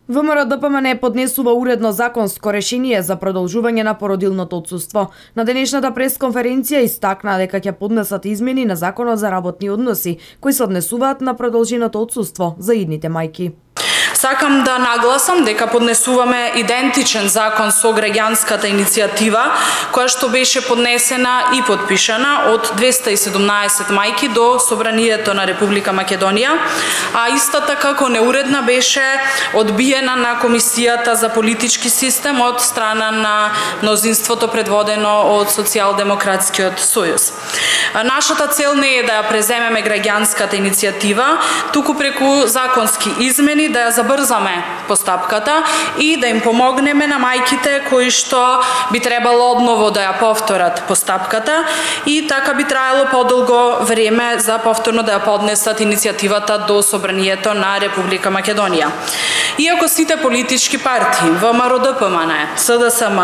ВМРО-ДПМН поднесува уредно законско решение за продолжување на породилното отсуство. На денешната пресконференција истакна дека ќе поднесат измени на Законот за работни односи, кои се однесуваат на продолженото отсуство за идните мајки. Сакам да нагласам дека поднесуваме идентичен закон со граѓанската иницијатива, која што беше поднесена и подпишана од 217 мајки до Собранието на Република Македонија, а истата како неуредна беше одбиена на Комисијата за политички систем од страна на мнозинството предводено од Социјалдемократскиот сојуз. Нашата цел не е да ја преземеме граѓанската иницијатива, туку преку законски измени да ја забрзаме постапката и да им помогнеме на мајките кои што би требало одново да ја повторат постапката и така би траело подолго време за повторно да ја поднесат иницијативата до Собранието на Република Македонија. Иако сите политички партии, ВМРО-ДПМН, СДСМ,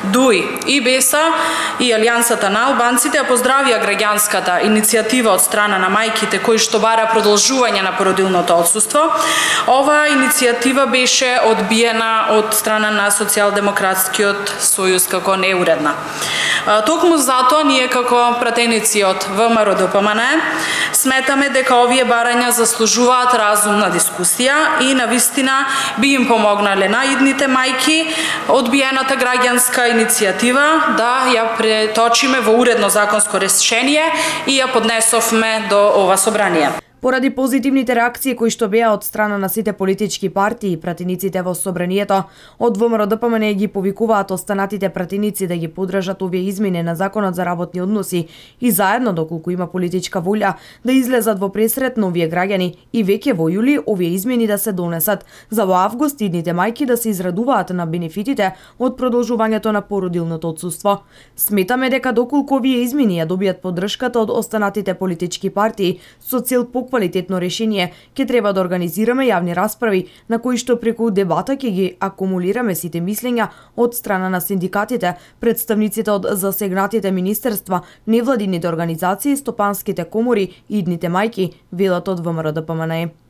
ДУИ и БЕСА и Алијансата на албанците ја поздравија граѓанската иницијатива од страна на мајките кои што бара продолжување на породилното отсуство, оваа иницијатива беше одбиена од страна на Социјалдемократскиот сојуз како неуредна. Токму затоа ние како пратеници од ВМРО-ДПМН сметаме дека овие барања заслужуваат разумна дискусија и навистина би им помогнале на идните мајки одбиената граѓанска иницијатива да ја преточиме во уредно законско решение и ја поднесовме до ова собрание. Поради позитивните реакции кои што беа од страна на сите политички партии и пратениците во Собранието, од ВМРО-ДПМН ги повикуваат останатите пратеници да ги поддржат овие измени на Законот за работни односи и заедно, доколку има политичка волја, да излезат во пресрет на овие граѓани и веќе во јули овие измени да се донесат, за во август идните мајки да се израдуваат на бенефитите од продолжувањето на породилното отсуство. Сметаме дека доколку овие измени ја добијат поддршката од останатите политички партии со цел квалитетно решение, ќе треба да организираме јавни расправи на кои што преку дебата ќе ги акумулираме сите мислења од страна на синдикатите, представниците од засегнатите министерства, невладините организации, стопанските комори и идните мајки, велат од ВМРО-ДПМН.